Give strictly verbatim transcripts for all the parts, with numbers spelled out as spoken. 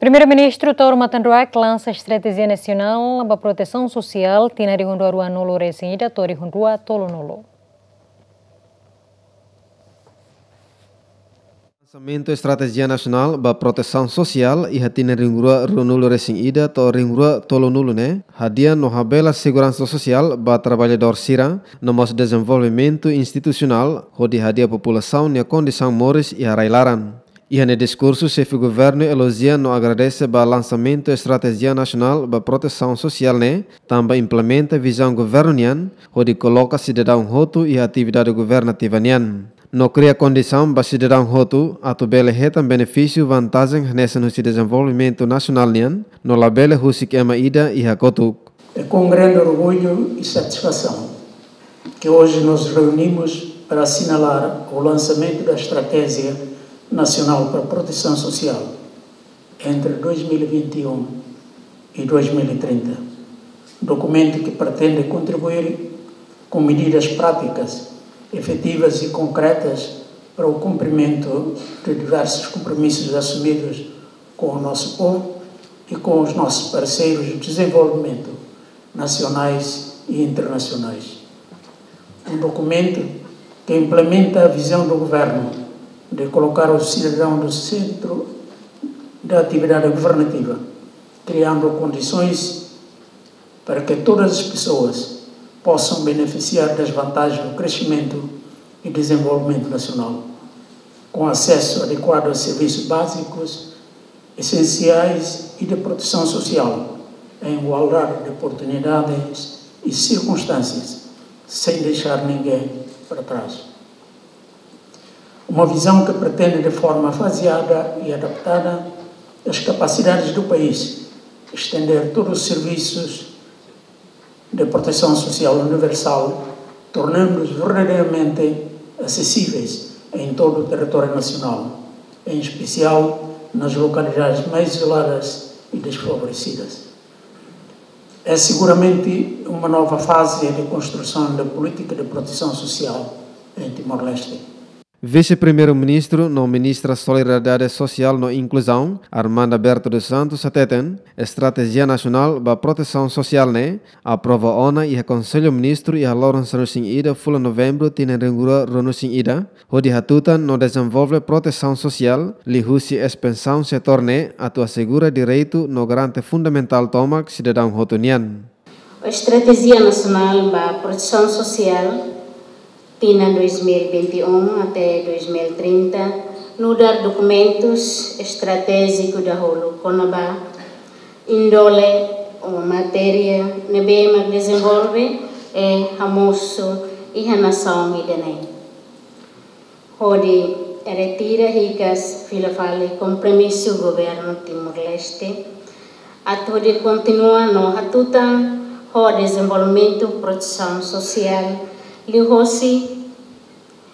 Primeiru-Ministru Taur Matan Ruak lansa Estratéjia Nasionál ba Protesaun Sosiál tinan rihun rua ruanulu resin ida to'o rihun rua tolunulu. Lansamentu Estratéjia Nasionál ba Protesaun Sosiál iha tinan rihun rua ruanulu resin ida to'o rihun rua tolunulu ne'e hadi'a no habelar seguransa sosiál ba traballadór sira, no mós dezenvolvimentu institusionál hodi hadi'a populasaun nia kondisaun moris iha rai-laran. Iha nia diskursu, Xefe Governu elojia no agradese ba lansamentu Estratéjia Nasionál ba Protesaun Sosiál ne'e, tanba implementa vizaun governu nian hodi koloka sidadaun hotu iha atividade governativa nian. No kria kondisaun ba sidadaun hotu atu bele hetan benefísiu vantajen hanesan husi dezenvolvimentu nasionál nian, no labele husik ema ida iha kotuk. É com grande orgulho e satisfação que hoje nos reunimos para assinalar o lançamento da Estratégia Nacional para a Proteção Social entre dois mil e vinte e um e dois mil e trinta, documento que pretende contribuir com medidas práticas, efetivas e concretas para o cumprimento de diversos compromissos assumidos com o nosso povo e com os nossos parceiros de desenvolvimento nacionais e internacionais. Um documento que implementa a visão do governo de colocar o cidadão no centro da atividade governativa, criando condições para que todas as pessoas possam beneficiar das vantagens do crescimento e desenvolvimento nacional, com acesso adequado a serviços básicos, essenciais e de proteção social, em igualdade de oportunidades e circunstâncias, sem deixar ninguém para trás. Uma visão que pretende, de forma faseada e adaptada às capacidades do país, estender todos os serviços de proteção social universal, tornando-os verdadeiramente acessíveis em todo o território nacional, em especial nas localidades mais isoladas e desfavorecidas. É seguramente uma nova fase de construção da política de proteção social em Timor-Leste. Vise-Primeiru-Ministru no Ministra Solidariedade Sosiál no Inkluzaun, Armanda Berto dos Santos, hateten, Estratéjia Nasionál ba Protesaun Sosiál ne'e aprova ona iha Konsellu Ministru iha loron sanulu-resin-ida fulan Novembru tinan rihun rua ruanulu-resin-ida, hodi hatutan no dezenvolve protesaun sosiál liuhusi espansaun setór ne'e atu asegura direitu no garante fundamentál tomak sidadaun hotu nian. Estratéjia Nasionál ba Protesaun Sosiál tinan dois mil e vinte e um até dois mil e trinta nu'udar dokumentus estratéjiku dahuluk kona-ba índole ou matéria ne'ebé mak dezenvolve i hamosu iha nasaun ida-ne'e. Hodi retira hikas fila fali kompromisu governu Timor-Leste atu hodi kontinua no hatutan ho dezenvolvimentu protesaun sosiál liuhosi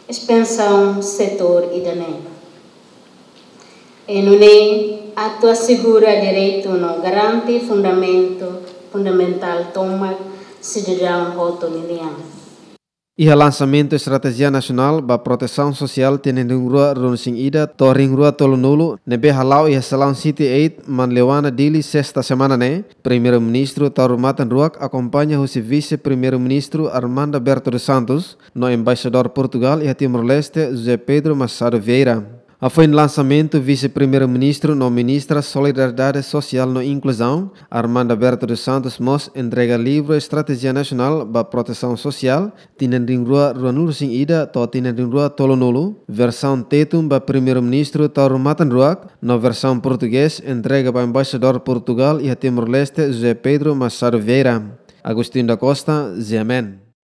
espansaun setór ida-ne'e. I nune'e atu asegura direitu no garante fundamentu fundamentál tomak sidadaun hotu ninian. Iha lansamentu Estratéjia Nasionál ba Protesaun Sosiál tinan rihun rua ruanulu-resin-ida to'o rihun rua tolunulu ne'ebé hala'o iha Salaun City Eight, Manleuana, Dili, sesta semana ne'e, Primeiru-Ministru Taur Matan Ruak akompaña husi Vise-Primeiru-Ministru Armanda Berto dos Santos no Embaixadór Portugál iha Timor-Leste, José Pedro Machado Vieira. Hafoin lansamentu, Vise-Primeiru-Ministru no Ministra Solidariedade Sosiál no Inkluzaun, Armanda Berto dos Santos, mós entrega livru Estratéjia Nasionál ba Protesaun Sosiál tinan rihun rua ruanulu-resin-ida to'o tinan rihun rua tolunulu, versaun Tetun ba Primeiru-Ministru Taur Matan Ruak, no versaun Portugés entrega ba Embaixadór Portugál iha Timor-Leste, José Pedro Machado Vieira. Agostinho da Costa, G M N.